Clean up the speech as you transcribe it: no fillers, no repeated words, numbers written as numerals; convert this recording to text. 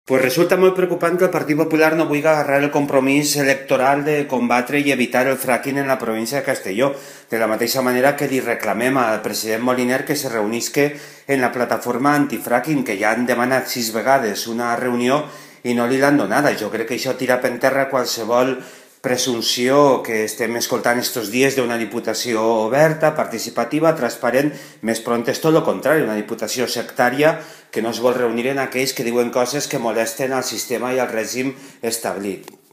Pues resulta molt preocupant que el Partit Popular no vulgui agarrar el compromís electoral de combatre i evitar el fracking en la província de Castelló, de la mateixa manera que li reclamem al president Moliner que se reunisque en la plataforma antifracking, que ja han demanat 6 vegades una reunió i no li l'han donada. Jo crec que això tira per terra qualsevol presumpció que estem escoltant estos dies d'una diputació oberta, participativa, transparent. Més pront és tot el contrari, una diputació sectària que no es vol reunir en aquells que diuen coses que molesten al sistema i al règim establit.